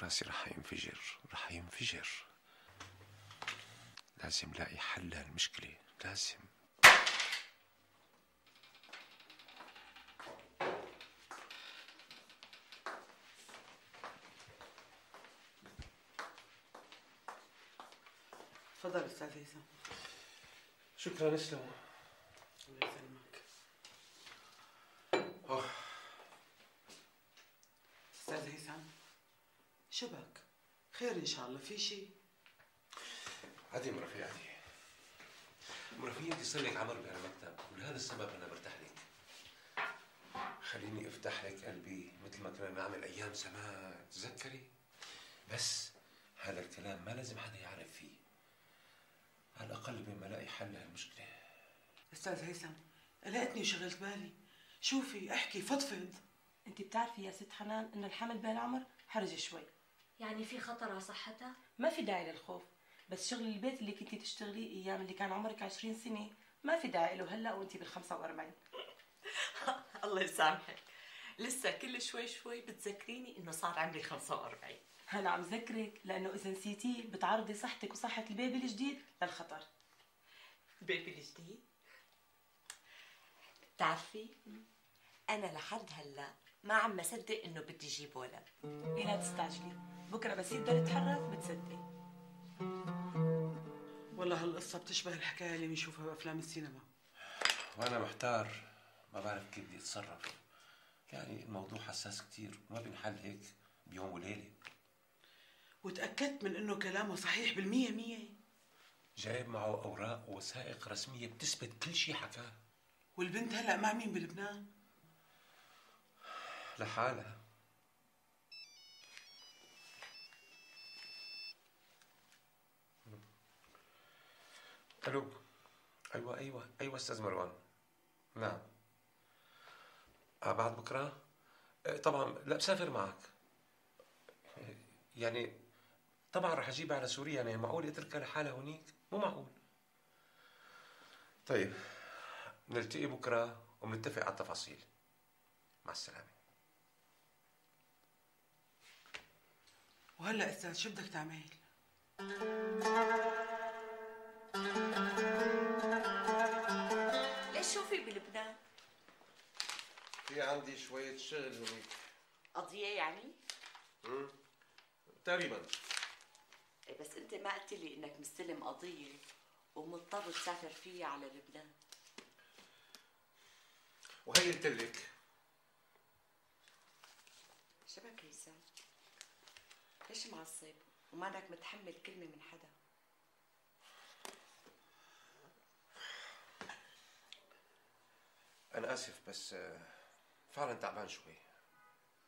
راسي رح ينفجر. لازم لاقي حل لهالمشكلة، لازم. تفضل استاذ هيثم. شكرا اسلم. الله يسلمك. استاذ هيثم شو بك؟ خير ان شاء الله، في شيء؟ عادي مرفيعتي. مرفيعتي صار لك عمر بهالمكتب، ولهذا السبب انا برتاح لك. خليني افتح لك قلبي مثل ما كنا نعمل ايام زمان، تذكري؟ بس هذا الكلام ما لازم حدا يعرف فيه، على الاقل بما الاقي حل لهالمشكله. استاذ هيثم قلقتني وشغلت بالي، شوفي احكي فضفض. انت بتعرفي يا ست حنان انه الحمل بهالعمر حرج شوي، يعني في خطر على صحتها؟ ما في داعي للخوف، بس شغل البيت اللي كنتي تشتغليه ايام اللي كان عمرك 20 سنه ما في داعي له هلا وانت بال45. الله يسامحك، لسه كل شوي بتذكريني انه صار عمري 45. انا عم ذكرك لانه اذا نسيتيه بتعرضي صحتك وصحه البيبي الجديد للخطر. بيبي الجديد؟ بتعرفي انا لحد هلا ما عم بصدق انه بدي اجيب ولد. لا تستعجلي، بكره بس يقدر يتحرك بتصدقي. والله هالقصه بتشبه الحكايه اللي بنشوفها بافلام السينما، وانا محتار ما بعرف كيف بدي اتصرف. يعني الموضوع حساس كثير وما بينحل هيك بيوم وليله. وتاكدت من انه كلامه صحيح بالمية؟ جايب معه اوراق ووثائق رسميه بتثبت كل شيء حكاه. والبنت هلا مع مين بلبنان؟ لحالها. الو. ايوه استاذ مروان. نعم. بعد بكره؟ طبعا لا، بسافر معك. يعني طبعا رح اجيبها على سوريا، يعني معقول اتركها لحالها هونيك؟ مو معقول. طيب نلتقي بكره وبنتفق على التفاصيل. مع السلامه. وهلا استاذ شو بدك تعمل؟ ليش شو في بلبنان؟ في عندي شويه شغل هونيك. قضية يعني؟ تقريبا. إيه بس انت ما قلت لي انك مستلم قضية ومضطر تسافر فيها على لبنان. وهي قلت لك. شبك هيثم؟ ليش معصب ومانك متحمل كلمة من حدا؟ انا اسف بس فعلا تعبان شوي.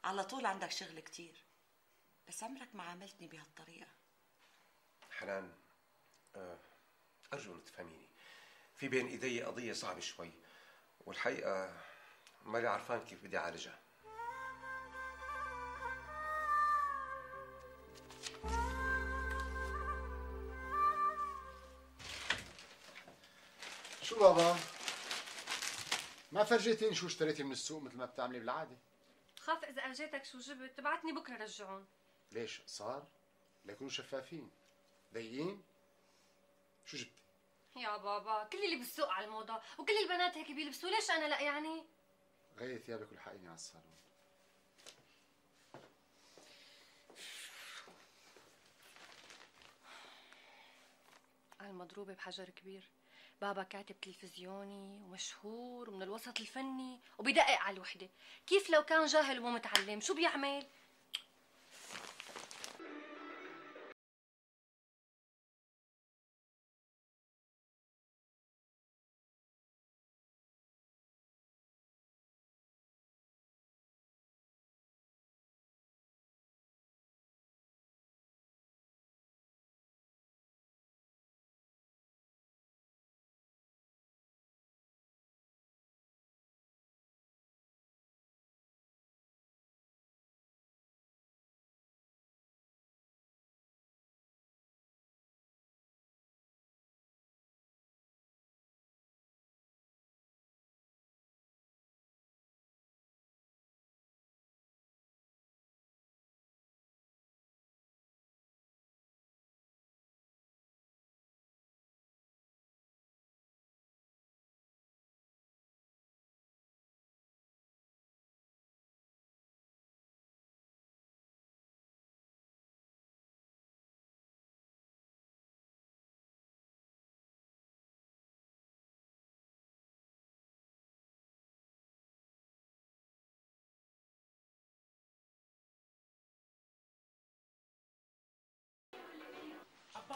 على طول عندك شغل كتير، بس عمرك ما عاملتني بهالطريقة. حنان، أرجو أن تفهميني. في بين إيدي قضية صعبة شوي، والحقيقة مالي عرفان كيف بدي أعالجها. شو بابا؟ ما فرجيتيني شو اشتريتي من السوق مثل ما بتعملي بالعادة؟ خاف إذا أجيتك شو جبت تبعتني بكرة رجعون. ليش صار؟ ليكونوا شفافين. ضيقين؟ شو جبتي؟ يا بابا كل اللي بالسوق على الموضة وكل البنات هيك بيلبسوا، ليش أنا لا يعني؟ غيري ثيابك والحقيني على الصالون. المضروبة بحجر كبير. بابا كاتب تلفزيوني ومشهور ومن الوسط الفني وبيدقق على الوحدة. كيف لو كان جاهل ومو متعلم شو بيعمل؟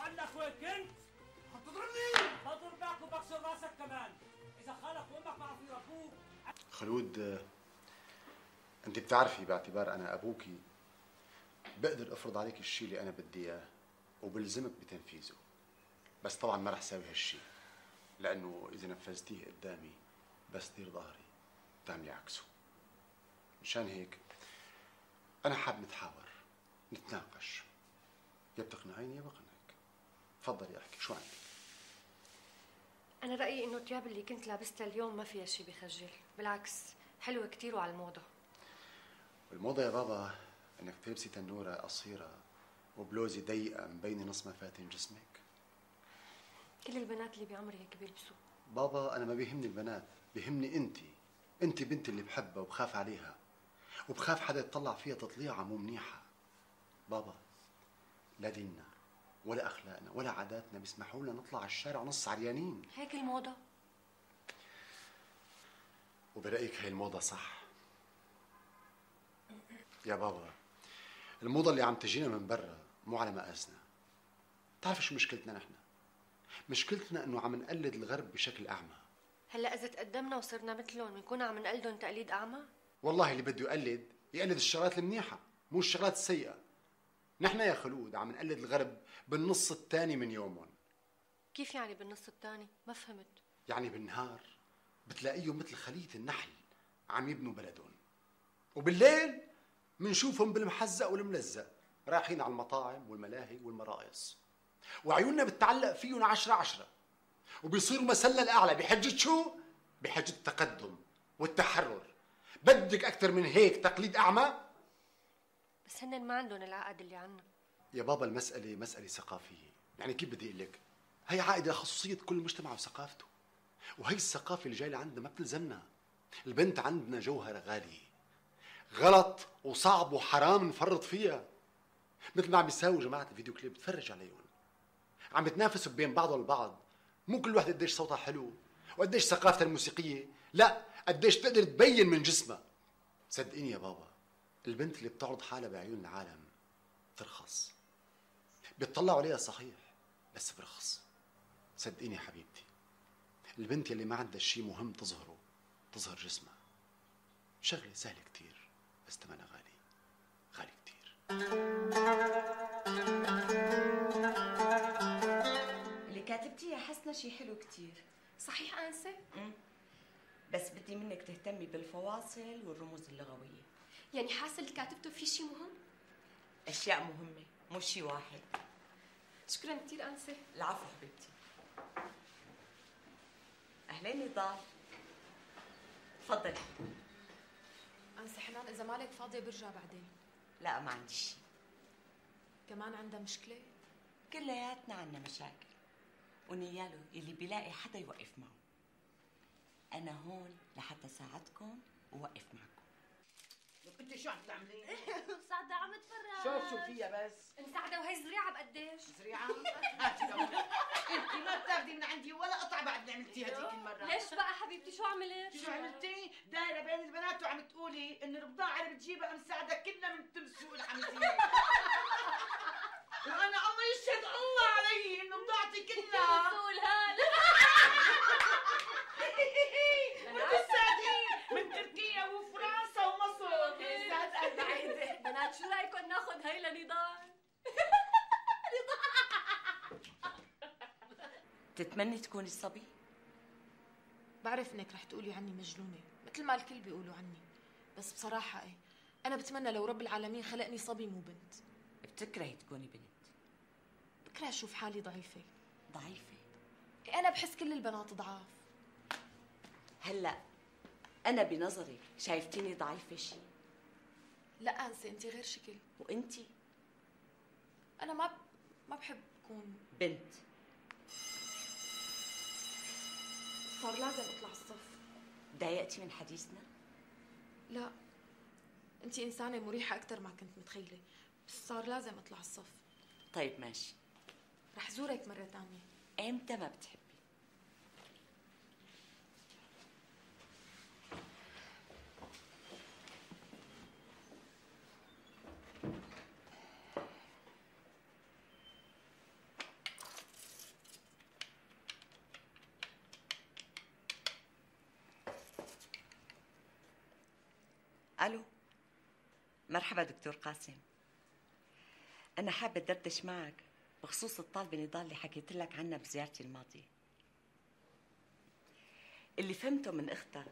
عنك وين كنت؟ هتضربني؟ بضربك وبكسر راسك كمان، إذا خالك وأمك ما عرفوا يربوك. خلود، أنت بتعرفي باعتبار أنا أبوكي بقدر أفرض عليك الشيء اللي أنا بدي إياه وبلزمك بتنفيذه، بس طبعا ما رح ساوي هالشيء، لأنه إذا نفذتيه قدامي بس دير ظهري بتعملي عكسه. مشان هيك أنا حاب نتحاور نتناقش، يا بتقنعيني يا بقنعك. تفضلي احكي شو عندك. أنا رأيي إنه الثياب اللي كنت لابستها اليوم ما فيها شيء بخجل، بالعكس حلوة كتير وعلى الموضة. والموضة يا بابا إنك تلبسي تنورة قصيرة وبلوزة ضيقة مبينة نص مفاتن جسمك. كل البنات اللي بعمري هيك بيلبسوا. بابا أنا ما بيهمني البنات، بيهمني أنت بنتي اللي بحبها وبخاف عليها وبخاف حدا يطلع فيها تطليعة مو منيحة. بابا لا ديننا ولا أخلاقنا ولا عاداتنا بيسمحوا لنا نطلع على الشارع نص عريانين. هيك الموضة. وبرأيك هي الموضة صح؟ يا بابا الموضة اللي عم تجينا من برا مو على مقاسنا. بتعرف شو مشكلتنا نحن؟ مشكلتنا انه عم نقلد الغرب بشكل اعمى. هلا اذا تقدمنا وصرنا مثلهم بنكون عم نقلدهم تقليد اعمى؟ والله اللي بده يقلد الشغلات المنيحة مو الشغلات السيئة. نحن يا خلود عم نقلد الغرب بالنص الثاني من يومهم. كيف يعني بالنص الثاني؟ ما فهمت. يعني بالنهار بتلاقيهم مثل خلية النحل عم يبنوا بلدهم، وبالليل منشوفهم بالمحزق والملزق رايحين على المطاعم والملاهي والمراقص، وعيوننا بتتعلق فيهم 10/10، وبيصيروا مسلة الأعلى بحجة شو؟ بحجة التقدم والتحرر. بدك أكثر من هيك تقليد أعمى؟ بس هن ما عندهم العقد اللي عنا. يا بابا المسألة مسألة ثقافية، يعني كيف بدي أقول لك؟ هي عائدة خصوصية كل مجتمع وثقافته، وهي الثقافة اللي جاية لعندنا ما بتلزمنا. البنت عندنا جوهرة غالية، غلط وصعب وحرام نفرط فيها. مثل ما عم بيساووا جماعة الفيديو كليب، بتفرج عليهم عم بتنافسوا بين بعضهم البعض. مو كل واحدة قديش صوتها حلو وقديش ثقافتها الموسيقية، لا قديش تقدر تبين من جسمها. صدقيني يا بابا، البنت اللي بتعرض حالها بعيون العالم ترخص. بيطلعوا عليها صحيح بس برخص. صدقيني يا حبيبتي، البنت يلي ما عندها شيء مهم تظهره تظهر جسمها. شغلة سهلة كتير بس ثمنها غالي، غالي كتير. اللي كاتبتيه يا حسنة شي حلو كتير. صحيح أنسة؟ بس بدي منك تهتمي بالفواصل والرموز اللغوية. يعني حاسة اللي كاتبته في شيء مهم؟ أشياء مهمة مو شي واحد. شكرا كتير أنسة. العفو حبيبتي. أهلين نضال، تفضلي. أنسة حنان إذا مالك فاضية برجع بعدين. لا ما عندي شي. كمان عندها مشكلة؟ كلياتنا عنا مشاكل، ونياله اللي بيلاقي حدا يوقف معه. أنا هون لحتى ساعدكم ووقف معكم. انت شو عم تعملي؟ مساعدة عم اتفرج. شو فيها بس؟ مساعدة وهي زريعة بقديش؟ زريعة؟ هاتي لو انت ما بتاخدي من عندي ولا قطعة بعد اللي عملتيها هذيك المرة. ليش بقى حبيبتي شو عملت؟ شو عملتي؟ دايرة بين البنات وعم تقولي ان البضاعة اللي بتجيبها مساعدة كلنا من تمسوق الحمزية. وانا الله يشهد الله علي انه بضاعتي كلها مسؤول هذا. بتساعدين من تركيا وفرنسا ومصر. سعد بعيدة. بنات شو رايكم ناخذ هي لنضال؟ تتمني تكوني صبي؟ بعرف إنك رح تقولي عني مجنونة مثل ما الكل بيقولوا عني، بس بصراحة إيه، أنا بتمنى لو رب العالمين خلقني صبي مو بنت. بتكرهي تكوني بنت؟ بكره أشوف حالي ضعيفة. ضعيفة؟ إيه أنا بحس كل البنات ضعاف. هلأ أنا بنظرك شايفتيني ضعيفة شي؟ لا أنسة، أنت غير شكل. وأنتي؟ أنا ما بحب أكون بنت. صار لازم أطلع الصف. ضايقتي من حديثنا؟ لا، أنت إنسانة مريحة أكتر ما كنت متخيلة، بس صار لازم أطلع الصف. طيب ماشي. رح زورك مرة تانية. إمتى ما بتحبي؟ ألو، مرحبا دكتور قاسم. أنا حابة أدردش معك بخصوص الطالبة نضال اللي حكيت لك عنها بزيارتي الماضية. اللي فهمته من أختها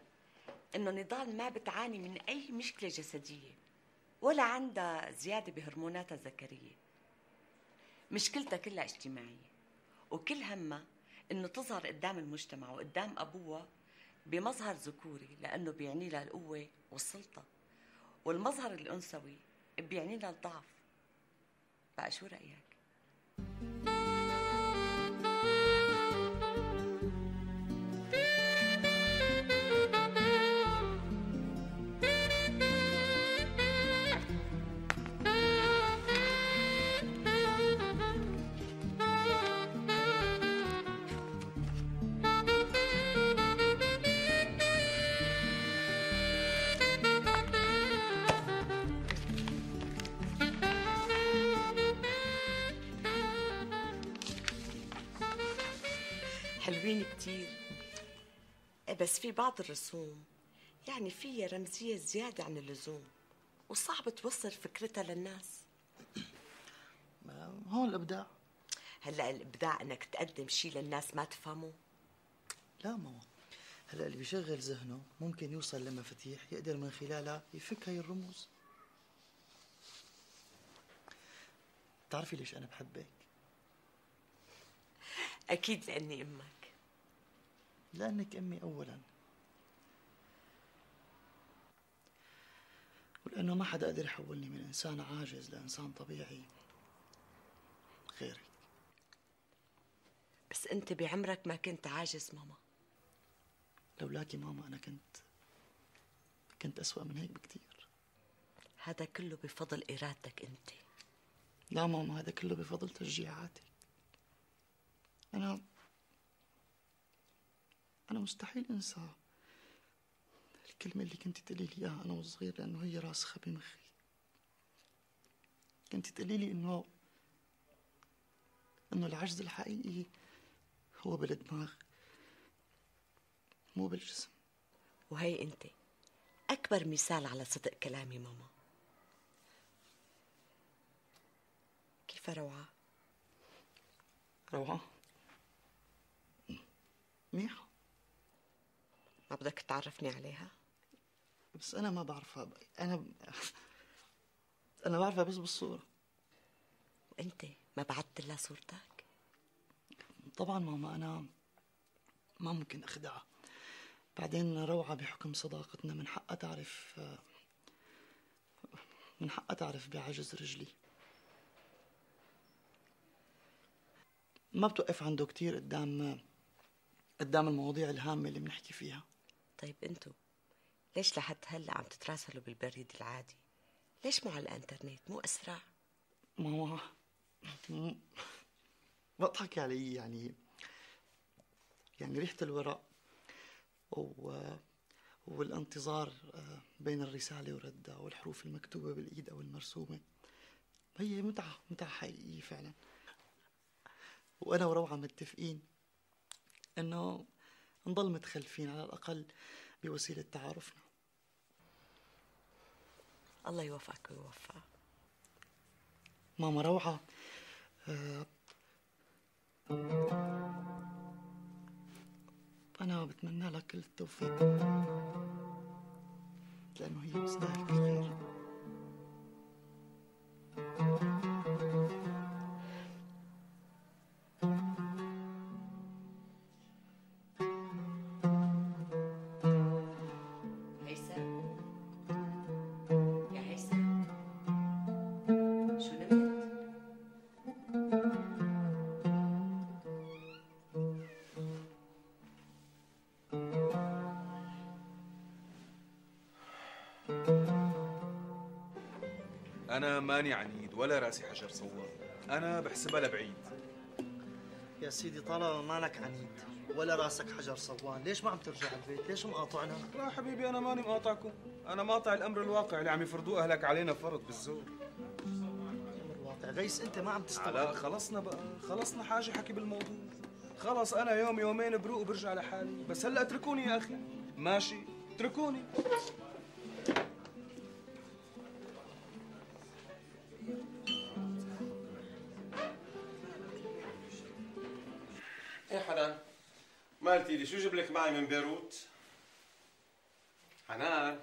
إنه نضال ما بتعاني من أي مشكلة جسدية ولا عندها زيادة بهرموناتها الذكرية. مشكلتها كلها اجتماعية، وكل همها إنه تظهر قدام المجتمع وقدام أبوها بمظهر ذكوري، لأنه بيعني لها القوة والسلطة، والمظهر الأنثوي بيعني لها الضعف. بقى شو رأيك؟ حلوين كتير، بس في بعض الرسوم يعني فيها رمزية زيادة عن اللزوم، وصعب توصل فكرتها للناس. هون الإبداع. هلا الابداع انك تقدم شيء للناس ما تفهمه؟ لا ماما، هلا اللي بيشغل ذهنه ممكن يوصل لمفاتيح يقدر من خلالها يفك هاي الرموز. بتعرفي ليش انا بحبك؟ اكيد لاني امك. لانك امي اولا، ولانه ما حدا قدر يحولني من انسان عاجز لانسان طبيعي غيرك. بس انت بعمرك ما كنت عاجز ماما. لولاكي ماما انا كنت اسوأ من هيك بكتير. هذا كله بفضل ارادتك انت. لا ماما، هذا كله بفضل تشجيعاتك. انا مستحيل انسى الكلمة اللي كنت تقولي لي اياها انا وصغير، لانه هي راسخة بمخي. كنت تقولي لي انه العجز الحقيقي هو بالدماغ مو بالجسم. وهي انت اكبر مثال على صدق كلامي ماما. كيف روعة؟ روعة منيحة. ما بدك تعرفني عليها؟ بس أنا ما بعرفها. أنا بعرفها بس بالصورة. وأنت ما بعثت لها صورتك؟ طبعا ماما، أنا ما ممكن أخدعها. بعدين روعة بحكم صداقتنا من حقها تعرف بعجز رجلي. ما بتوقف عنده كتير قدام المواضيع الهامة اللي بنحكي فيها. طيب انتو ليش لحد هلا عم تتراسلوا بالبريد العادي؟ ليش مو على الانترنت؟ مو اسرع؟ ماما بضحكي علي. يعني ريحة الورق والانتظار بين الرسالة وردها والحروف المكتوبة بالإيد أو المرسومة هي متعة حقيقية فعلا. وأنا وروعة متفقين إنه نضل متخلفين على الأقل بوسيلة تعارفنا. الله يوفقك ويوفقك. ماما روعة، أنا بتمنى لك كل التوفيق لأنه هي تستاهل كل خير. أنا ماني عنيد ولا راسي حجر صوان، أنا بحسبها لبعيد. يا سيدي طالما مالك عنيد ولا راسك حجر صوان، ليش ما عم ترجع البيت؟ ليش مقاطعنا؟ لا حبيبي أنا ماني مقاطعكم، أنا مقاطع الأمر الواقع اللي عم يفرضوه أهلك علينا فرض بالزور. الأمر الواقع غيس، أنت ما عم تستوعب. لا خلصنا بقى، خلصنا حاجة حكي بالموضوع. خلص أنا يوم يومين بروق وبرجع لحالي، بس هلا اتركوني يا أخي. ماشي اتركوني. ايه حنان، ما قلتي لي شو جيب لك معي من بيروت؟ حنان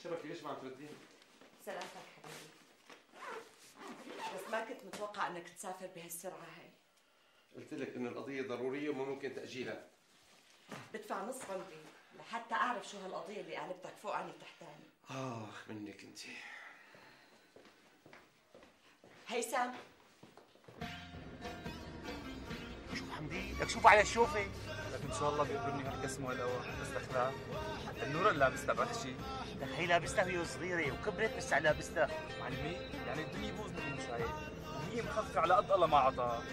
شبكي ليش ما عم تردين؟ سلامتك حبيبي، بس ما كنت متوقع انك تسافر بهالسرعة هاي. قلت لك انه القضية ضرورية وما ممكن تأجيلها. بدفع نص عمري لحتى اعرف شو هالقضية اللي قلبتك فوق عني تحتاني. منك انت. هيثم شوف حمدي، لك شوف على الشوفة. لك ان شاء الله بيقبرني هالقسم والقوى، بس دخلها النور اللي لابستها بحشي. لك هي لابستها وهي صغيرة وكبرت بس على لابستها. معلمي يعني الدنيا يبوظ من المشايخ وهي مخففة على قد الله ما عطاها.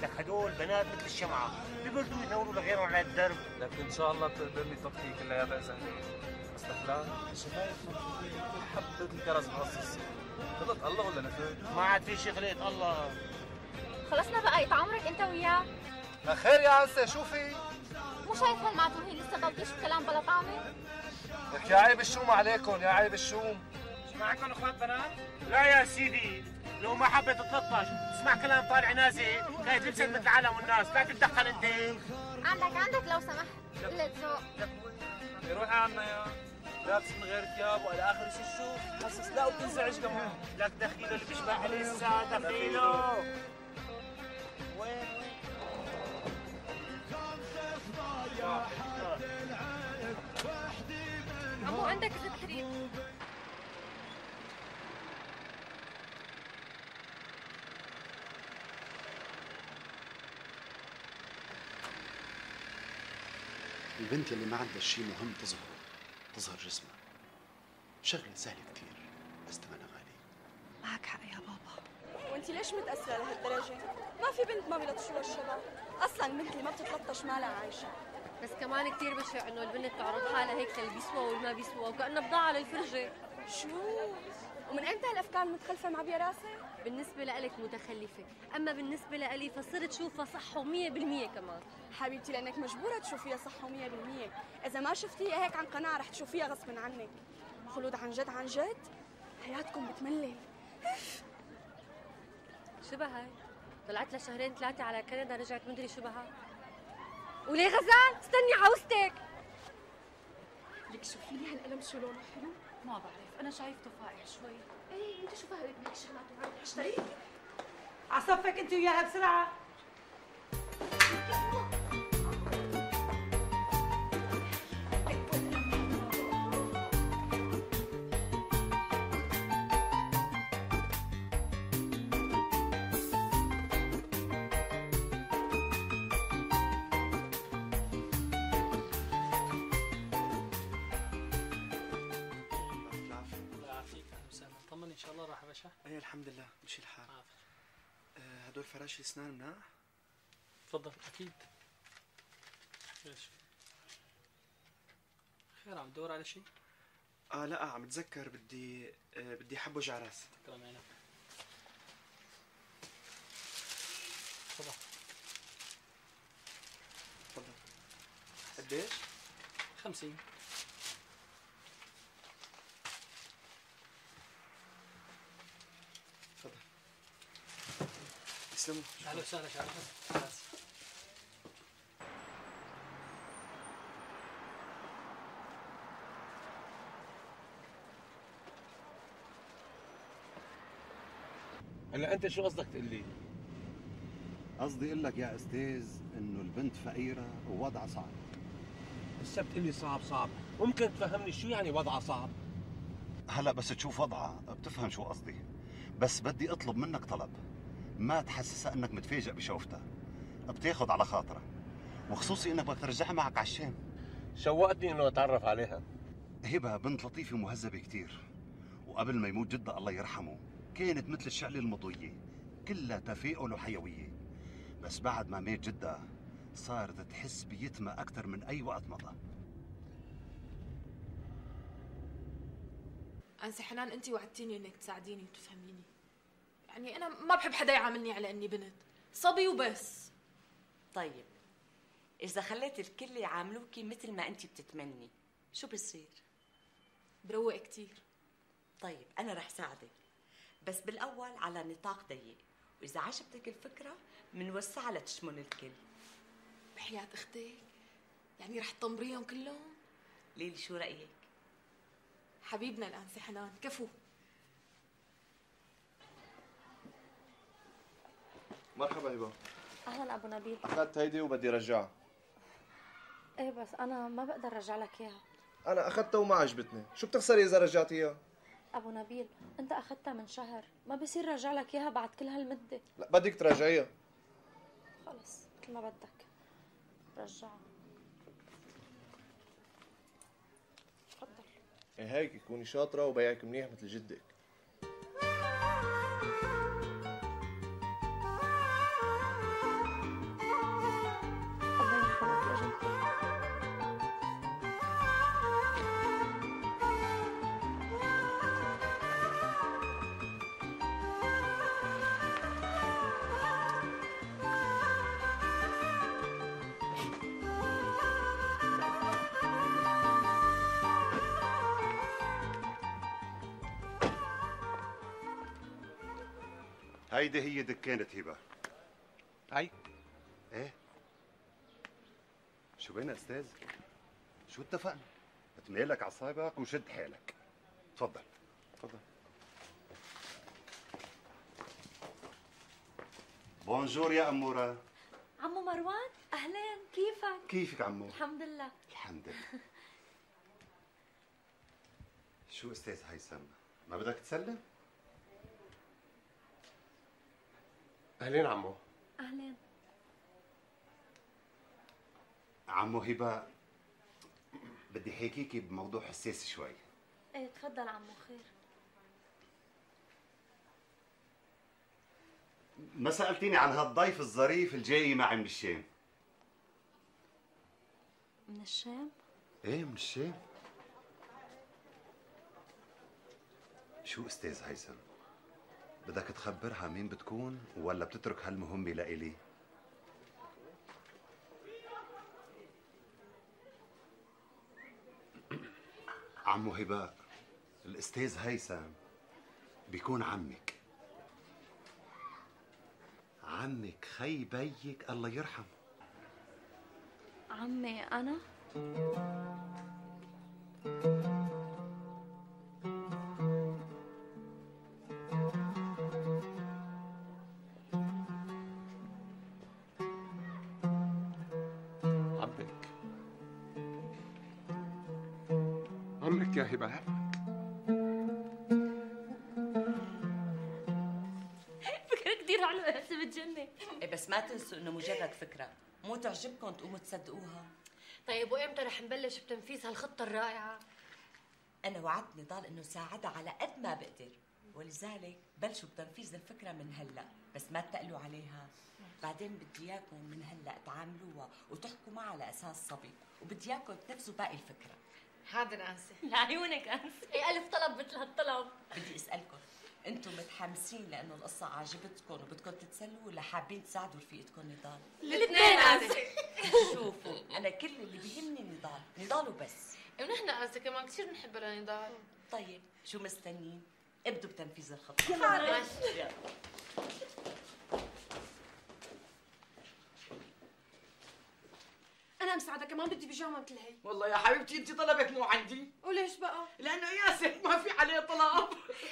لك هدول بنات مثل الشمعة بيبردوا ينوروا لغيرهم على الدرب. لك ان شاء الله بتقدرني تطفي كلياتها اذا هيك. بس دخلها الشفايف مخفوفين حبة الكرز مقصص. خلقت الله ولا نفر؟ ما عاد في شي خلقت الله. خلصنا بقى يتعمرك انت وياه. خير يا عنسة شوفي. مو شايف هالمعتوه هي لسه بلطيش بكلام بلا طعمه؟ لك يا عيب الشوم عليكم، يا عيب الشوم. ما عندكم اخوات بنات؟ لا يا سيدي، لو ما حبت تلطش تسمع كلام طالع نازل كانت لبست مثل العالم والناس، لا تتدخل انت. عندك لو سمحت قلة ذوق. روحي عنا يا لابس من غير ثياب وعلى اخر شيء شو حاسس لا وبتنزعج كمان. لك دخيله اللي بيشبه لسه دخيله. وين عمو عندك زيت حريق. البنت اللي ما عندها شيء مهم تظهر جسمها شغلة سهلة كتير بس ثمنها غالي. معك حق يا بابا. وانت ليش متأثرة لهالدرجة؟ ما في بنت ما بيلطشوها الشباب، أصلاً البنت اللي ما بتتلطش مالها عايشة. بس كمان كثير بشع انه البنت تعرض حالها هيك للي بيسوى والما بيسوى وكأنها بضاعة للفرجة. شو؟ ومن امتى هالأفكار المتخلفة معبية راسي؟ بالنسبة لإلك متخلفة، أما بالنسبة لإلي فصرت شوفها صح و100% كمان. حبيبتي لأنك مجبورة تشوفيها صح و100%، إذا ما شفتيها هيك عن قناعة رح تشوفيها غصب عنك. خلود عن جد حياتكم بتملل. شو بهاي؟ طلعت لها شهرين 3 على كندا رجعت مدري شو بها. وليه غزال؟ استني عاوزتك. لك شوفي لي هالقلم شو لونه حلو؟ ما بعرف، أنا شايفته فاقع شوي. ايه انت شو فاهمة بهيك شغلات وعم تشتري؟ عصفك انت وياها بسرعه. ان شاء الله راح باشا. ايه الحمد لله مشي الحال. هدول فراشي اسنان مناح؟ تفضل. اكيد. ليش؟ خير عم تدور على شيء؟ لا عم اتذكر بدي حبوج على راسي. تمام عينك. تفضل. تفضل. قديش؟ 50. تفضل. تسلموا. اهلا وسهلا شرف. هلا انت شو قصدك تقول لي؟ قصدي اقول لك يا استاذ انه البنت فقيره ووضعها صعب. لسه بتقول لي صعب، ممكن تفهمني شو يعني وضعها صعب؟ هلا بس تشوف وضعها بتفهم شو قصدي، بس بدي اطلب منك طلب، ما تحسسها انك متفاجئ بشوفتها، بتاخذ على خاطرها، وخصوصي انك بدك ترجعها معك على الشام. شوقتني انه اتعرف عليها. هبه بنت لطيفه ومهذبه كثير، وقبل ما يموت جدها الله يرحمه كانت مثل الشعلة المضوية كلها تفاؤل وحيوية، بس بعد ما مات جدها صارت تحس بيتمة أكثر من أي وقت مضى. أنسي حنان أنت وعدتيني إنك تساعديني وتفهميني، يعني أنا ما بحب حدا يعاملني على إني بنت، صبي وبس. طيب إذا خليت الكل يعاملوكي مثل ما أنت بتتمني شو بصير؟ بروق كتير. طيب أنا رح ساعدك، بس بالأول على نطاق ضيق، وإذا عجبتك الفكرة منوسعها لتشمل الكل. بحياة أختك؟ يعني رح تطمريهم كلهم؟ ليلي شو رأيك؟ حبيبنا الأنسة حنان، كفو. مرحبا هبه. اهلا ابو نبيل. اخذت هيدي وبدي رجعها. ايه بس انا ما بقدر ارجع لك اياها. انا اخذتها وما عجبتني، شو بتخسري اذا رجعتيها؟ ابو نبيل انت اخذتها من شهر، ما بصير رجع لك اياها بعد كل هالمده. لا بدك تراجعيها. خلص مثل ما بدك رجعها. تفضل. ايه هيك كوني شاطره وبيعك منيح مثل جدك. هيدي هي دكانة هبة. هاي؟ ايه. شو بينا استاذ؟ شو اتفقنا؟ بتميلك عصايبك وشد حالك. تفضل. تفضل. بونجور يا أمورة. عمو مروان، أهلين، كيفك؟ كيفك عمو؟ الحمد لله. الحمد لله. شو استاذ هيثم؟ ما بدك تسلم؟ اهلين عمو. أهلين. عمو هبة، بدي حكيكي بموضوع حساس شوي. ايه تفضل عمو، خير. ما سألتيني عن هالضيف الظريف الجاي معي من الشام. من الشام؟ ايه من الشام. شو استاذ هيثم؟ بدك تخبرها مين بتكون ولا بتترك هالمهمة لإلي؟ عمو هباء، الاستاذ هيثم بيكون عمك. عمك خي بيك الله يرحمه. عمي أنا؟ عمك يا هبة، عمك. فكرة كتير حلوة يا هسه بتجنن. إيه بس ما تنسوا إنه مجرد فكرة، مو تعجبكم تقوموا تصدقوها. طيب وإمتى رح نبلش بتنفيذ هالخطة الرائعة؟ أنا وعدت نضال إنه ساعدها على قد ما بقدر، ولذلك بلشوا بتنفيذ الفكرة من هلا، بس ما تقلوا عليها. بعدين بدي إياكم من هلا تعاملوها وتحكوا معها على أساس صبي، وبدي إياكم تنفذوا باقي الفكرة. حاضر أنسة. لعيونك أنسة. إيه ألف طلب مثل هالطلب. بدي أسألكم، أنتم متحمسين لأنه القصة عجبتكم وبدكم تتسلوا ولا حابين تساعدوا رفيقتكم نضال؟ الاثنين أنسة. شوفوا، أنا كل اللي بيهمني نضال وبس. ونحن أنسة كمان كثير بنحب لنضال. طيب شو مستنيين؟ ابدوا بتنفيذ الخطة. يلا. أنا مساعدة كمان بدي بيجامة مثل هي. والله يا حبيبتي انت طلبك مو عندي. وليش بقى؟ لانه ياسر ما في عليه طلب.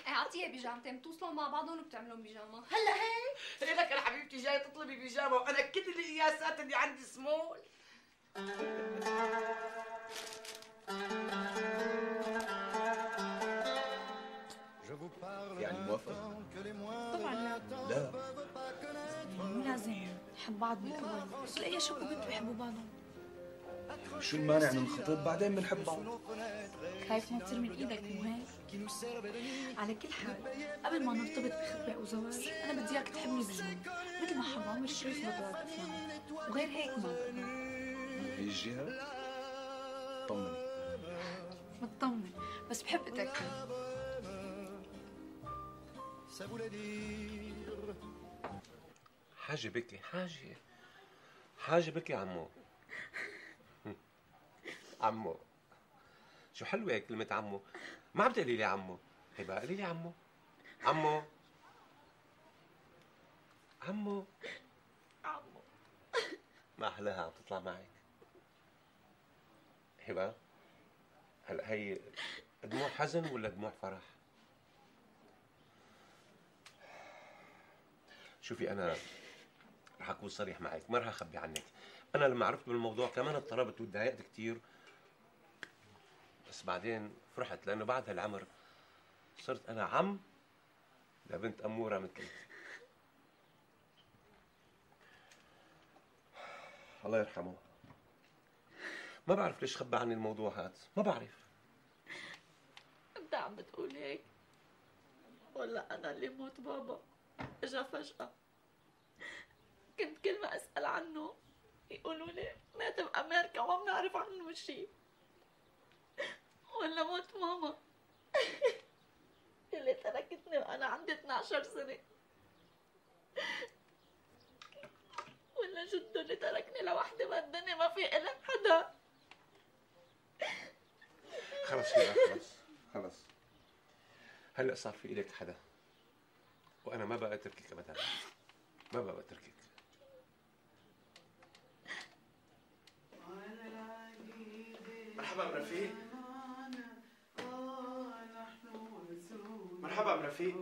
اعطيها بيجامتين بتوصلوا مع بعضهم وبتعملون بيجامه. هلا هي لك يا حبيبتي جاي تطلبي بيجامه وانا كل القياسات اللي عندي سمول. يعني موافقة؟ طبعا لا. لا، مو لازم نحب بعض بالاول، بس لاقي شاب وبنت بيحبوا بعضهم. شو المانع ننخطب بعدين بنحب بعض؟ خايف ما تصير من ايدك مو هيك؟ على كل حال قبل ما نرتبط بخطبه او زواج انا بدي اياك تحبني بجنون مثل ما حب عمر الشريف بدر افلام، وغير هيك ما بقدر. من هي الجهة طمني. مطمن بس بحب اتاكد. حاجة بكي، حاجة بكي عمو. عمو شو حلوة هيك كلمة عمو. ما عم تقولي لي عمو. هبة قولي لي عمو. عمو عمو عمو. ما أحلاها عم تطلع معك. هبة هلا هي دموع حزن ولا دموع فرح؟ شوفي أنا رح أكون صريح معك، ما رح أخبي عنك. أنا لما عرفت بالموضوع كمان اضطربت وتضايقت كثير، بس بعدين فرحت لأنه بعد هالعمر صرت أنا عم لبنت أمورة مثلي. الله يرحمه. ما بعرف ليش خبى عني الموضوع هذا، ما بعرف. انت عم بتقول هيك ولا انا اللي موت بابا اجا فجأة؟ كنت كل ما اسأل عنه يقولوا لي مات بأمريكا وما بنعرف عنه شيء، ولا موت ماما اللي تركتني وانا عندي 12 سنة، ولا جده اللي تركني لوحدي بالدنيا ما في إلي حدا. خلص هلا خلص هلا صار في إلك حدا. وانا ما بقى اتركك ابدا، ما بقى اتركك. مرحبا ام رفيق. مرحبا ام رفيق.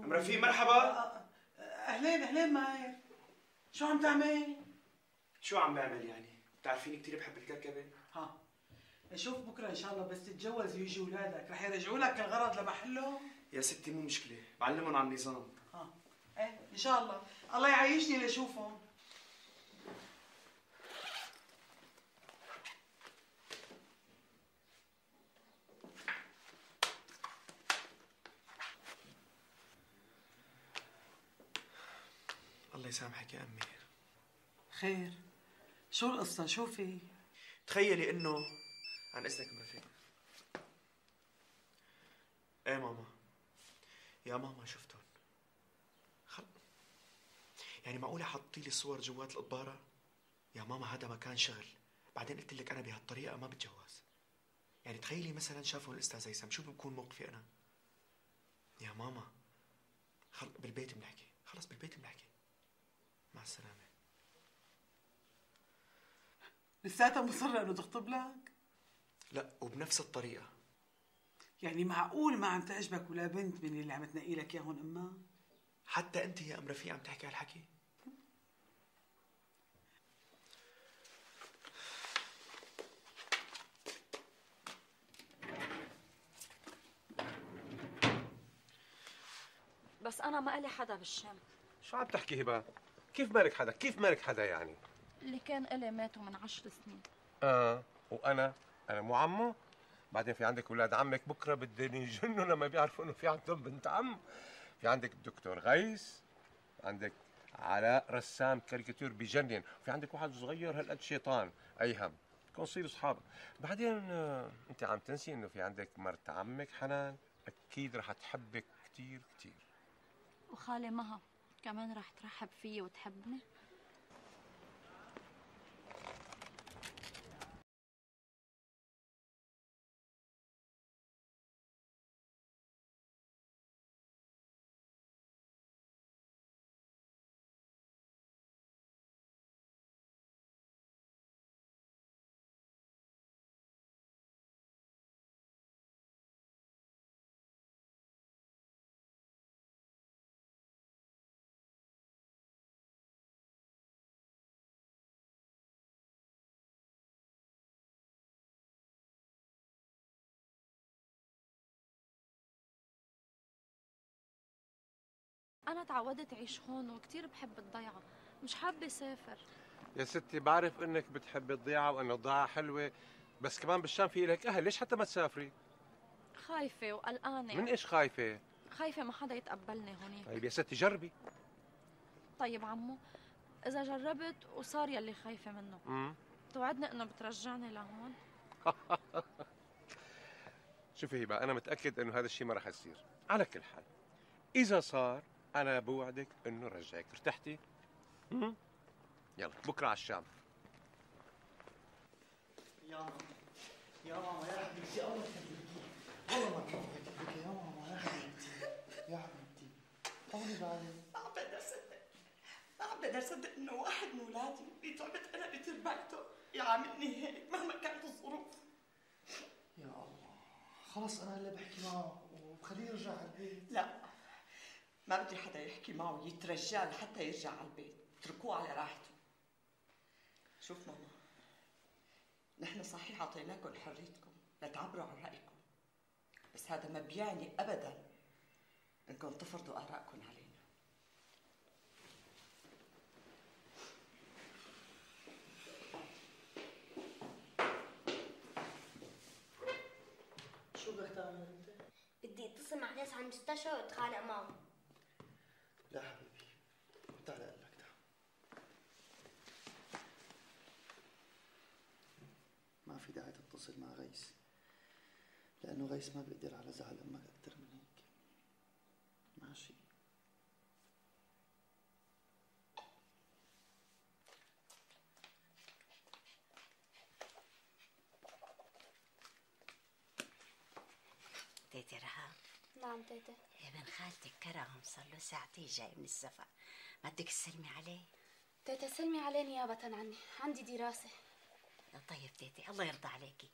ام رفيق مرحبا. اهلين اهلين ماهر، شو عم تعمل؟ شو عم بعمل يعني؟ بتعرفيني كثير بحب الكركبه. ها شوف بكره ان شاء الله بس تتجوز ويجي اولادك رح يرجعوا لك الغرض لمحله. يا ستي مو مشكله، بعلمهم على النظام. ايه ان شاء الله، الله يعيشني لشوفهم. الله يسامحك يا امي. خير، شو القصة؟ شو في؟ تخيلي انه عن اذنك ام رفيق. ايه ماما، يا ماما شفتهم. يعني معقولة حطي لي صور جوات القبارة؟ يا ماما هذا مكان شغل، بعدين قلت لك انا بهالطريقة ما بتجوز. يعني تخيلي مثلا شافوا الاستاذ هيثم، شو بكون موقفي انا؟ يا ماما بالبيت بنحكي، خلص بالبيت بنحكي. مع السلامة. لساتها مصرة انه تخطب لك؟ لا، وبنفس الطريقة. يعني معقول ما عم تعجبك ولا بنت من اللي عم تنقي لك اياهم امها؟ حتى انت يا ام رفيق عم تحكي هالحكي؟ بس انا ما لي حدا بالشام. شو عم تحكي هبه؟ كيف مالك حدا؟ كيف مالك حدا يعني؟ اللي كان إلي ماتوا من 10 سنين. وانا مو عمه؟ بعدين في عندك اولاد عمك بكره بدهم يجنوا لما بيعرفوا انه في عندهم بنت عم. في عندك الدكتور غيث، عندك علاء رسام كاريكاتير بجنن، وفي عندك واحد صغير هالقد شيطان ايهم، بدكم تصيروا اصحاب. بعدين انت عم تنسي انه في عندك مرت عمك حنان، اكيد رح تحبك كثير كثير. وخالي مها كمان رح ترحب فيي وتحبني. أنا تعودت أعيش هون وكتير بحب الضيعة، مش حابة أسافر. يا ستي بعرف إنك بتحبي الضيعة وإنه الضيعة حلوة، بس كمان بالشام في لك أهل، ليش حتى ما تسافري؟ خايفة وقلقانة. من إيش خايفة؟ خايفة ما حدا يتقبلني هونيك. طيب يا ستي جربي. طيب عمو، إذا جربت وصار يلي خايفة منه، توعدني إنه بترجعني لهون؟ شوفي هبة، أنا متأكد إنه هذا الشيء ما رح يصير، على كل حال إذا صار أنا بوعدك إنه رجعك. ارتحتي؟ يلا بكرة على الشام. يا ماما يا ماما يا حبيبتي، الله يخليكي، والله ما كنت بحكي يا ماما يا حبيبتي يا حبيبتي، طولي بالي. ما عم بقدر صدق، ما عم بقدر صدق انه واحد من اولادي اللي تعبت انا بتربيته يعاملني هيك مهما كانت الظروف. يا الله، خلص انا هلا بحكي معه وبخليه يرجع على البيت. لا، ما بدي حدا يحكي معه يترجاه لحتى يرجع على البيت، اتركوه على راحته. شوف ماما، نحن صحيح اعطيناكم حريتكم لتعبروا عن رايكم، بس هذا ما بيعني ابدا انكم تفرضوا ارائكم علينا. شو بدك تعمل انت؟ بدي اتصل مع ناس على المستشفى واتخانق معهم. لا حبيبي، تعال اقول لك، تعال. ما في داعي تتصل مع غيث، لأنه غيث ما بيقدر على زعل أمك أكثر من هيك. ماشي؟ تيتي رهام. نعم تيتي. ابن خالتك كرم صار له ساعتين جاي من السفر، ما بدك تسلمي عليه؟ تيتي سلمي عليه نيابة عني، عندي دراسة. طيب تيتي الله يرضى عليكي،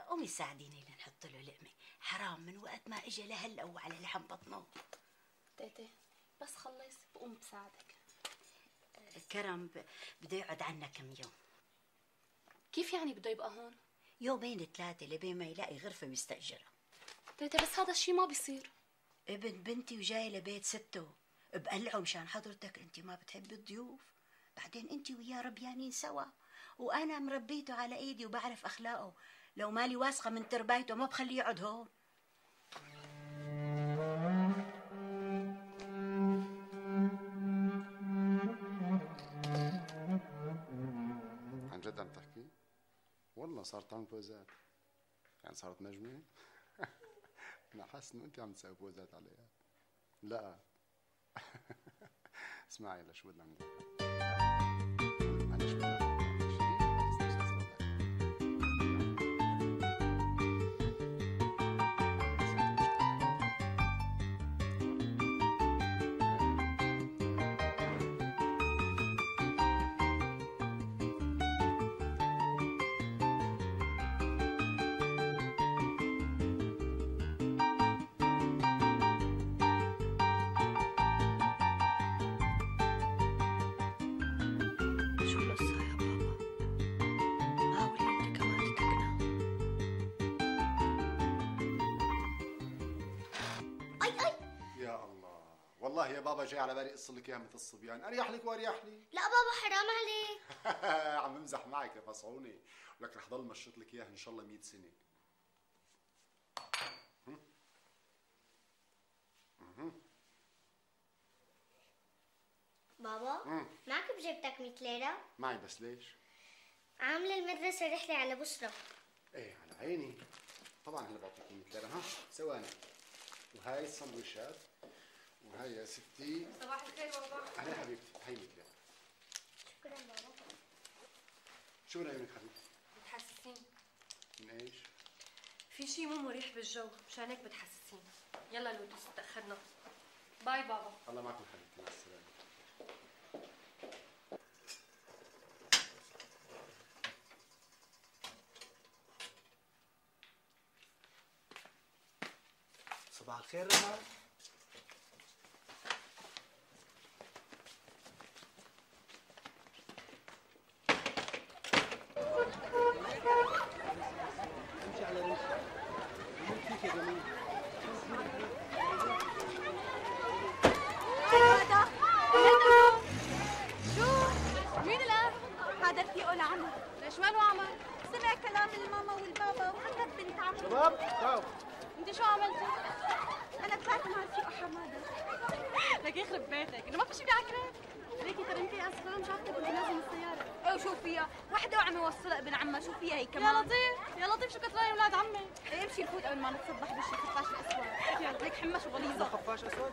قومي ساعديني لنحط له لقمة، حرام من وقت ما اجى لهلا وعلى لحم بطنه. تيتي بس خلص بقوم بساعدك. كرم بده يقعد عنا كم يوم. كيف يعني بده يبقى هون؟ يومين 3 لبين ما يلاقي غرفة مستأجرة. تيتي بس هذا الشيء ما بيصير. ابن بنتي وجاي لبيت سته، بقلعه مشان حضرتك، انت ما بتحبي الضيوف، بعدين انت وياه ربيانين سوا، وانا مربيته على ايدي وبعرف اخلاقه، لو مالي واثقة من تربايته ما بخليه يقعد هون. عن جد عم تحكي؟ والله صارت تعمل بوزات، يعني صارت مجنونة؟ أنا حاسس إنه أنت عم تسوي بوزات عليها. لا اسمعي هلا شو بدنا نعمل. أنا شو بدنا نعمل؟ والله يا بابا جاي على بالي اقص لك اياها مثل الصبيان، اريح لك واريح لي. لا بابا حرام عليك. عم بمزح معك يا فصعوني، ولك رح ضل مشط لك اياها ان شاء الله 100 سنه. بابا معك بجيبتك 100 ليرة؟ معي بس ليش؟ عاملة المدرسة رحلة على بصرة. ايه على عيني، طبعا هلا بعطيك 100 ليرة. ها ثواني، وهاي السندويشات، وهي يا ستي. صباح الخير بابا. اهلا حبيبتي، هي 100 ليرة. شكرا بابا. شو رايك حبيبتي؟ بتحسسين. من ايش؟ في شيء مو مريح بالجو، مشان هيك بتحسسين. يلا لودوس تأخرنا. باي بابا. الله معكم حبيبتي، مع السلامة. صباح الخير رهام. امشي على رمشي. مين فيك يا جميل؟ هذا شو؟ مين الأب؟ هذا رفيقه لعمر. ليش ماله عمر؟ سمع كلام الماما والبابا وحكت بنت عمه. شباب تعالوا. انت شو عملتي؟ انا طلعت مع رفيقه حماده. لك يخرب بيتك، انه ما في شيء بعكرك. ليكي ترى انت اسفه مش عارفه كنت لازم السياره. ايه شو فيها؟ وحده وعم يوصلها ابن عمها، شو فيها هي كمان؟ يا لطيف، يا لطيف شو كتراي اولاد عمي. ايه امشي نفوت قبل ما نتصبح بشي خفاش الاسود. يلا ليك حمش وغليظه. خفاش اسود؟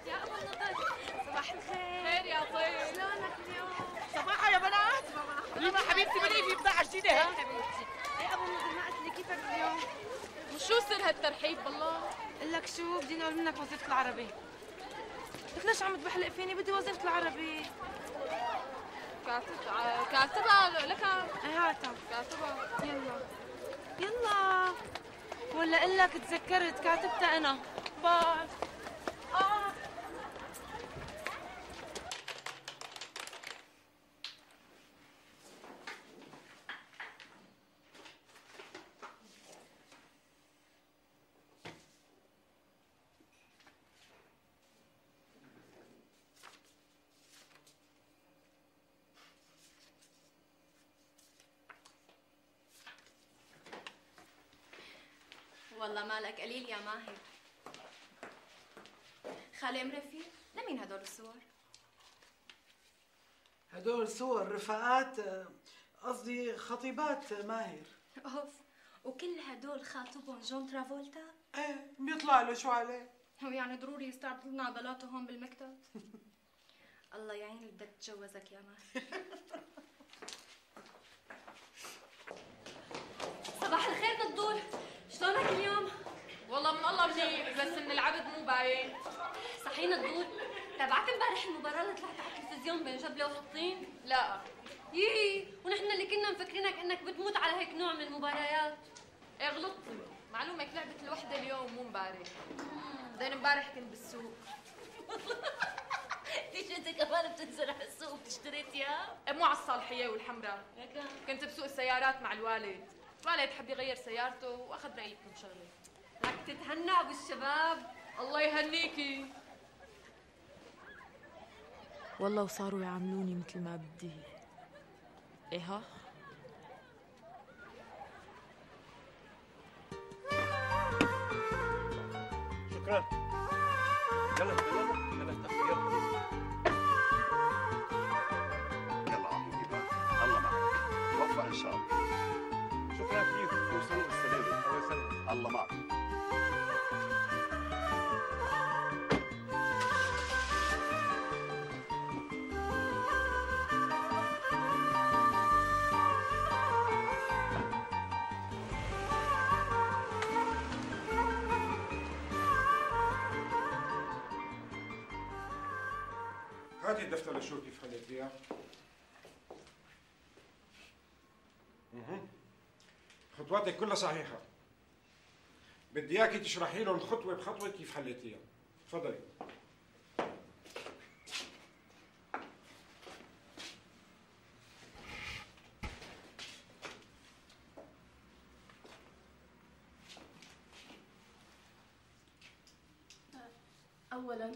يا ابو اللطيف صباح الخير. خير يا طيب. شلونك اليوم؟ صباحا يا بنات. يلا حبيبتي بدي في بضاعة جديدة. ها حبيبتي. يا ابو اللطيف ما قلت لي كيفك اليوم؟ وشو سر هالترحيب بالله؟ قل لك شو بدي نقول منك وظيفة العربي. لك ليش عم تبحلق فيني؟ بدي وظيفة العربي. كاتبها لك. ايه هاتها. كاتبها. يلا يلا. ولا قل لك تذكرت كاتبتها انا. باي. والله مالك قليل يا ماهر. خالي مرفي، لمين هدول الصور؟ هدول صور رفقات، قصدي خطيبات ماهر. اوف، وكل هدول خاطبهم جون ترافولتا؟ ايه بيطلع له شو عليه؟ هو يعني ضروري يستعرض لنا بلاطه هون بالمكتب؟ الله يعين اللي بدك تتجوزك يا ماهر. صباح الخير نضول، شلونك اليوم؟ والله والله من الله منيح، بس من العبد مو باين. صحينا الدور، تابعت امبارح المباراة اللي طلعت على التلفزيون بين جبلة وحطين؟ لا. ونحن اللي كنا مفكرينك انك بتموت على هيك نوع من المباريات. ايه غلطتي، معلومك لعبت الوحدة اليوم مو امبارح. بعدين امبارح كنت بالسوق. ليش انت كمان بتنزل على السوق وبتشتري ثياب؟ مو على الصالحية والحمراء. كنت بسوق السيارات مع الوالد. الوالد حب يغير سيارته واخذ رأيي بكم شغلة. لك تتهنى ابو الشباب. الله يهنيكي. والله وصاروا يعاملوني مثل ما بدي. ايه ها؟ شكرا. يلا يلا تأخذ يلا. يلا عمو إيمان، الله معك، موفق إن شاء الله. شكرا كثير، توصلوا بالسلامة. الله يسلمك. الله معك. هاتي الدفتر لشوف كيف خليتيها. خطواتك كلها صحيحة. بدي اياكي تشرحي لهم خطوة بخطوة كيف حليتيها. تفضلي. أولاً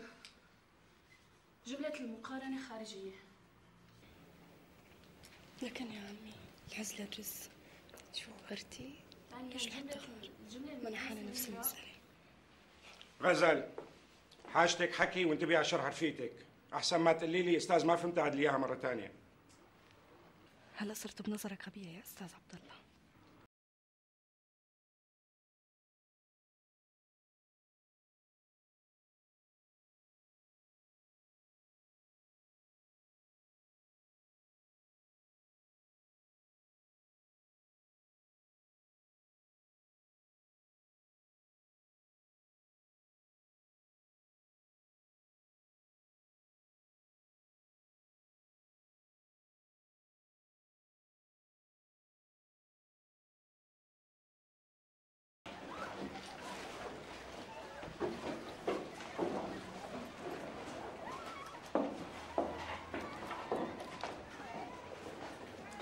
جملة المقارنة خارجية. لكن يا عمي العزلة الرز شو غرتي؟ ليش الحتى ما أنا حالة نفس المسألة. غزل، حاجتك حكي وانتبهي على شرح رفيقتك. أحسن ما تقولي لي أستاذ ما فهمت عاد لي إياها مرة ثانية. هلا صرت بنظرك غبية يا أستاذ عبد الله.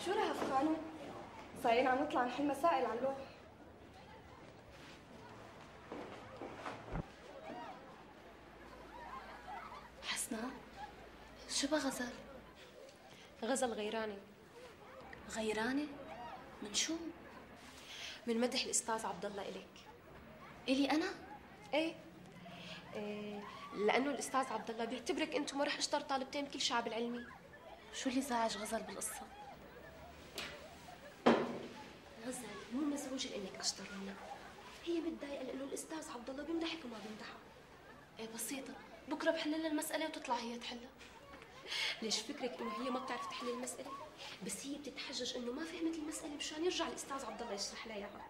شو رهف قانون؟ صايرين عم نطلع نحل مسائل على اللوح. حسنا شو بقى غزل؟ غزل غيراني. غيرانة؟ من شو؟ من مدح الأستاذ عبد الله إليك. إلي أنا؟ إيه لأنه الأستاذ عبد الله بيعتبرك أنت مرح أشطر طالبتين بكل شعب العلمي. شو اللي زعج غزل بالقصة؟ غزل مو مزعوجة لأنك أشطر منها، هي متضايقة لأنه الأستاذ عبد الله بيمدحك وما بيمدحها. إيه بسيطة، بكرة بحل لها المسألة وتطلع هي تحلها. ليش فكرك إنه هي ما بتعرف تحل المسألة؟ بس هي بتتحجج إنه ما فهمت المسألة مشان يرجع الأستاذ عبد الله يشرح لها إياها.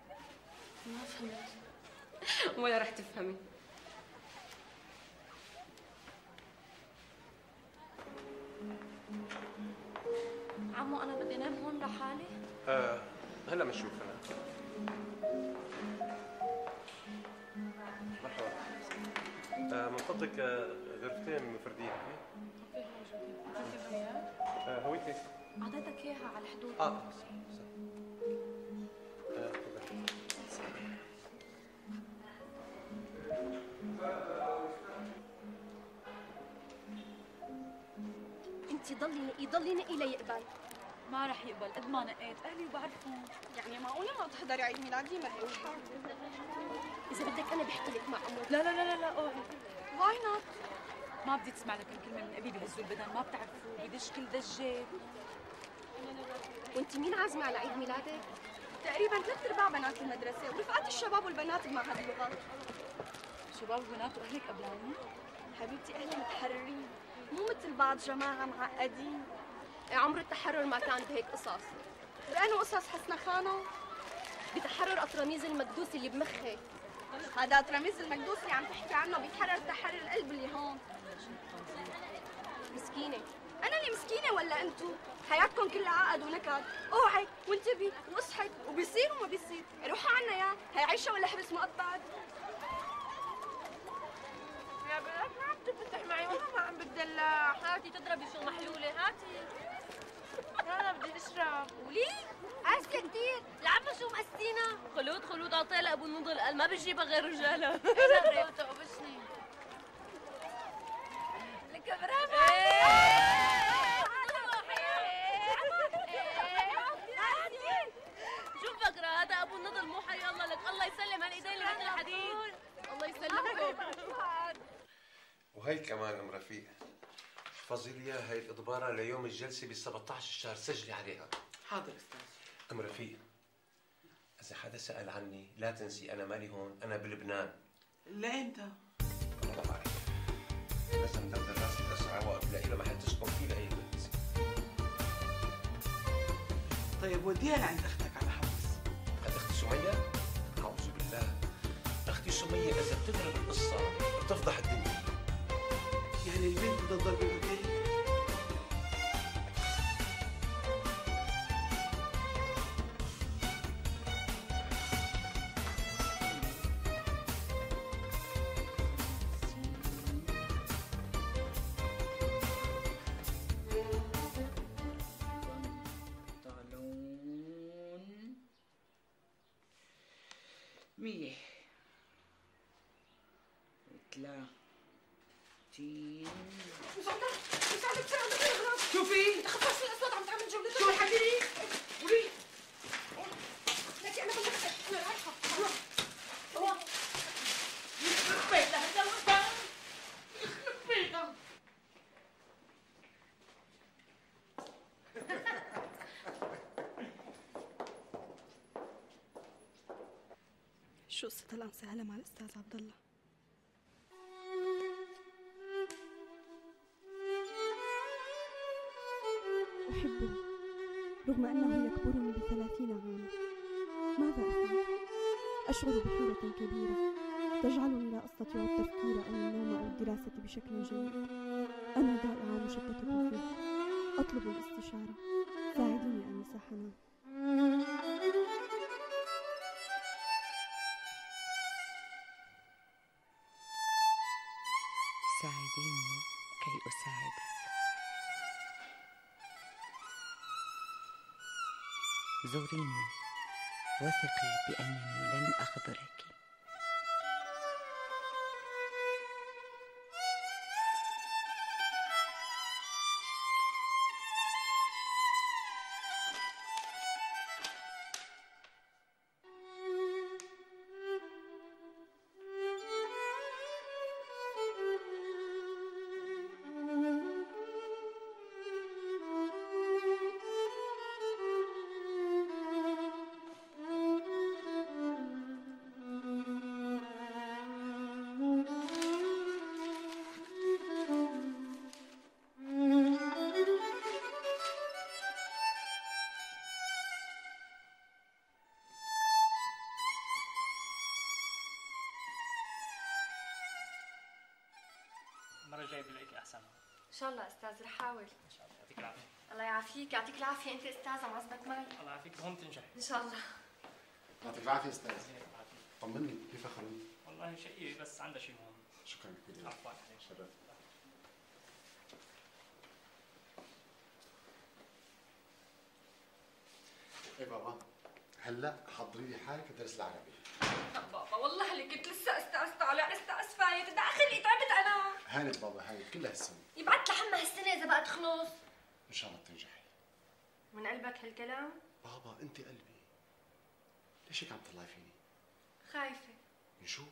ما فهمت. ولا رح تفهمي. عمو أنا بدي نام هون لحالي؟ هلا بنشوف أنا. مرحبا. من فضلك غرفتين مفردين. هويتك؟ أعطيتك إياها على الحدود. انت ضلي نقي ليقبل. ما رح يقبل قد ما نقيت اهلي وبعرفهم. يعني معقولة ما تحضري عيد ميلادي مريوحة؟ إذا بدك أنا بحكي لك مع أمك. لا لا لا لا اوعي. واي نوت؟ ما بدي تسمع لك الكلمة من أبي بهزوا البدن، ما بتعرفوا بدش كل دجات. وانت مين عازمة على عيد ميلادك؟ تقريبا 3/4 بنات المدرسة ورفقات الشباب والبنات بمعهد اللغات. شباب وبنات وأهلك قبلاني؟ حبيبتي أهلي متحررين، مو مثل بعض جماعة معقدين. عمر التحرر ما كان بهيك قصص. بأنه قصص حسنا خانو؟ بتحرر أطرانيز المكدوس اللي بمخك. هذا تراميس المكدوس اللي عم تحكي عنه بيتحرر تحرر القلب اللي هون. مسكينة. أنا اللي مسكينة ولا أنتو؟ حياتكم كلها عقد ونكد، اوعي وانتبهي واصحي وبيصير وما بيصير، روحوا عنا يا، هي عيشة ولا حبس مؤبد؟ يا بنات ما عم تفتح معي والله ما عم بتدلع. هاتي تضربي شو محلولة هاتي. أنا بدي أشرب. وليه؟ قاسية كتير، العبة شو مقسينا؟ خلود عطيه لأبو النضل قال ما بتجيبها غير رجالها. جرب تقبشني. لك برافو. شو فكرة هذا أبو النضل مو حي الله لك، الله يسلم هالإيدين اللي مثل الحديد. الله يسلمكم. وهي كمان ام رفيق، احفظي لي هاي الإضبارة ليوم الجلسة ب 17 الشهر، سجلي عليها. حاضر استاذ. ام رفيق، إذا حدا سأل عني لا تنسي أنا مالي هون، أنا بلبنان. لإمتى؟ والله ما بعرف. لازم ندبر راسي بأسرع وقت لاقي له محل تسكن فيه لأي بنت. طيب وديها لعند اختك على حبس. عند اختي سمية؟ أعوذ بالله. اختي سمية إذا بتدرك القصة بتفضح الدنيا. يعني البنت بدها تضل بالاوتيل؟ مية 30 مساعدة بسرعة بدي اغرب. شوفي انت خفاش الأصوات عم تعمل جولة. شو الحكي؟ قولي. لكن أنا بلغتك أنا رايحة. الله يخرب بيتها هذا الوطن، يخرب بيتها. شو قصة الأنسة مع الأستاذ عبد الله؟ أحبه رغم أنه يكبرني ب30 عاما. ماذا أفعل؟ أشعر بحيرة كبيرة تجعلني لا أستطيع التفكير أو النوم أو الدراسة بشكل جيد. أنا ضائعة مشتتة فيه. أطلب الاستشارة. ساعديني أنسة حنان. ساعديني كي أساعدك. زوريني وثقي بأنني لن أخذلك. المرة الجاية بلاقيكي أحسن. إن شاء الله أستاذ رح أحاول. إن شاء الله يعطيك العافية. الله يعافيك يعطيك العافية أنت أستاذة معزبك معي. الله يعافيك وهم تنجحي. إن شاء الله. يعطيك العافية أستاذ. طمني كيف خلود؟ والله شقيقة بس عندها شيء مهم. شكرا كثير. عفوا عليك. شرف. ايه بابا هلا حضري لي حالك درس العربي. بابا والله اللي كنت لسه استأذت على استأذ فايت، بدي اخلي تعبت انا. هانت بابا هانت كلها السنة. يبعت لحمى هالسنة إذا بقى تخلص. ان شاء الله بتنجحي. من قلبك هالكلام؟ بابا انت قلبي. ليش هيك عم تطلعي فيني؟ خايفة. من شو؟